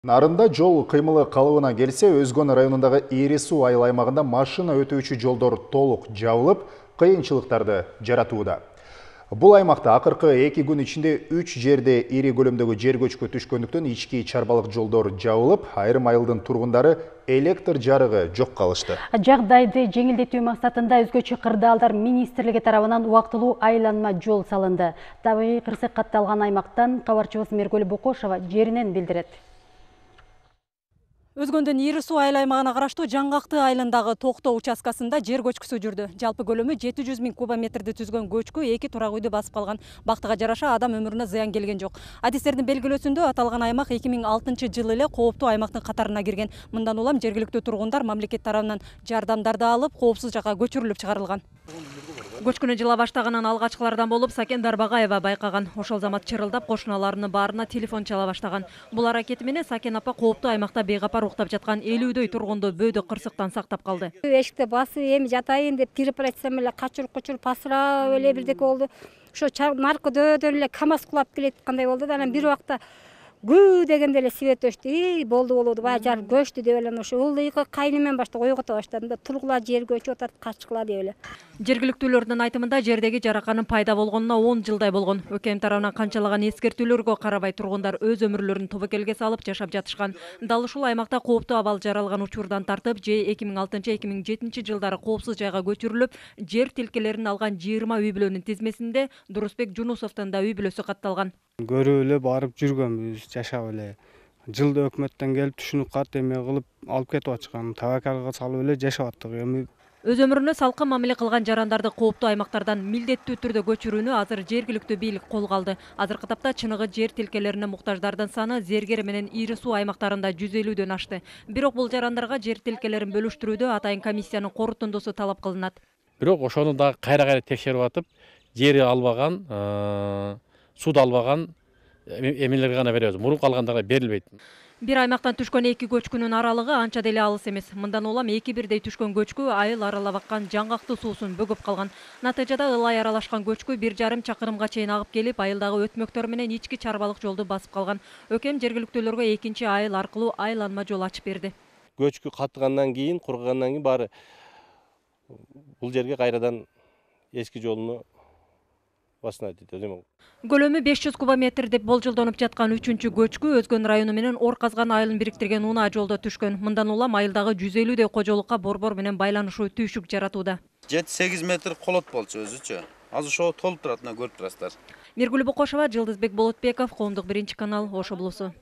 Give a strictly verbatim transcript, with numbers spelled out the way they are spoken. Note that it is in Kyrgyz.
Нарында жол кыймылы калыбына келсе, Өзгөн районундагы Ири суу айыл аймагында машина өтүүчү жолдор толук жабылып, кыйынчылыктарды жаратууда. Бул аймакта акыркы эки күн ичинде үч жерде ири көлөмдөгү жер көчкү түшкөндүктөн ички чарбалык жолдор жабылып, айрым айылдын тургундары электр жарыгы жок калышты. Жагдайды жеңилдетүү максатында өзгөчө кырдаалдар министрлиги тарабынан убактылуу айланма жол салынды. Табигый кырсык катталган аймактан кабарчыбыз Мергөл Бокошова жеринен билдирет. Өзгөндөн Ири суу айыл аймагына караштуу Жаңгакты айылындагы токтоо участкасында жер көчкүсү жүрдү. Жалпы көлөмү жети жүз миң кубометрди түзгөн көчкү эки турак үйдү басып калган. Бактыга жараша адам өмүрүнө зыян келген жок. Адистердин белгилөөсүндө аталган аймак эки миң алтынчы жылы эле кооптуу аймактын катарына кирген. Мындан улам жергиликтүү тургундар мамлекет тарабынан жардамдарды алып, коопсуз жакка көчүрүлүп чыгарылган. Көчкүнү жыла баштаганын алгачкылардан болуп Сакен Дарбагаева байкаган. Ошол замат чырылдап кошуналарынын баарына телефон чала баштаган. Бул аракети менен Сакен апа кооптуу аймакта бейкапар уктап жаткан элүүдөй тургунду бөөдө кырсыктан сактап калды. Эшикте басып эми жатайын деп кирип баратсам эле качырып кучуруп пасырап эле бирдеке болду. Ошо наркөдөн эле КамАЗ кулап келе аткандай болду да, анан бир убакта гүү дегенде эле свет өчтү. И болду болду баягы жар көчтү деп эле ошо ылдыйкы кайнымен башта ойгото баштадым да, тургула жер көчүп атат, качкыла деп эле. Жергиликтүүлөрдүн айтымында жердеги жараканын пайда болгонуна он жылдай болгон. ӨКМ тарабынан канчалаган эскертүүлөргө карабай тургундар өз өмүрлөрүн тобокелге салып жашап жатышкан. Дал ушул аймакта кооптуу абал жаралган учурдан тартып, же эки миң алтынчы эки миң жетинчи жылдары коопсуз жайга көчүрүлүп, жер тилкелерин алган жыйырма үй бүлөнүн тизмесинде Дурусбек Жунусовдун да үй бүлөсү катталган. Көрүп эле барып жүргөнбүз, жашап эле. Жылда өкмөттөн келип түшүнүк кат эме кылып алып кетип атышкан. Табакалга салып эле жашап аттык. Эми өз өмүрүнө салкын мамиле кылган жарандарды кооптуу аймактардан милдеттүү түрдө көчүрүүнү азыр жергиликтүү бийлик колго алды. Азыркы тапта чыныгы жер тилкелерине муктаждардын саны Зергер менен Ири суу аймактарында жүз элүүдөн ашты. Бирок бул жарандарга жер тилкелерин бөлүштүрүүдө атайын комиссиянын корутундусу талап кылынат. Бирок ошону дагы кайра кайра текшерип атып, жери албаган, сууду албаган эмелерге гана беребиз. Мурун калгандарга берилбейт. Бир аймактан түшкөн эки көчкүнүн аралыгы анча деле алыс эмес. Мындан улам эки бирдей түшкөн көчкү айыл аралап аккан Жаңгакты суусун бөгөп калган. Натыйжада ылай аралашкан көчкү бир жарым чакырымга чейин агып келип, айылдагы өтмөктөр менен ички чарбалык жолду басып калган. ӨКМ жергиликтүүлөргө экинчи айыл аркылуу айланма жол ачып берди. Көчкү катыгандан кийин, кургагандан кийин баары бул жерге кайрадан эски жолуну Көлөмү беш жүз кубометр деп болжолдонуп жаткан үчүнчү көчкү Өзгөн району менен Ор Казган айылын бириктирген унаа жолдо түшкөн. Мындан улам айылдагы жүз элүүдөй кожолукка борбор менен байланышуу түйшүк жаратууда. жети сегиз метр колот болчу өзүчө. Азыр ошо толуп турат, көрүп турасыздар. Мергүл Бокошова, Жылдызбек Болотбеков, Коомдук биринчи канал, Ош облусу.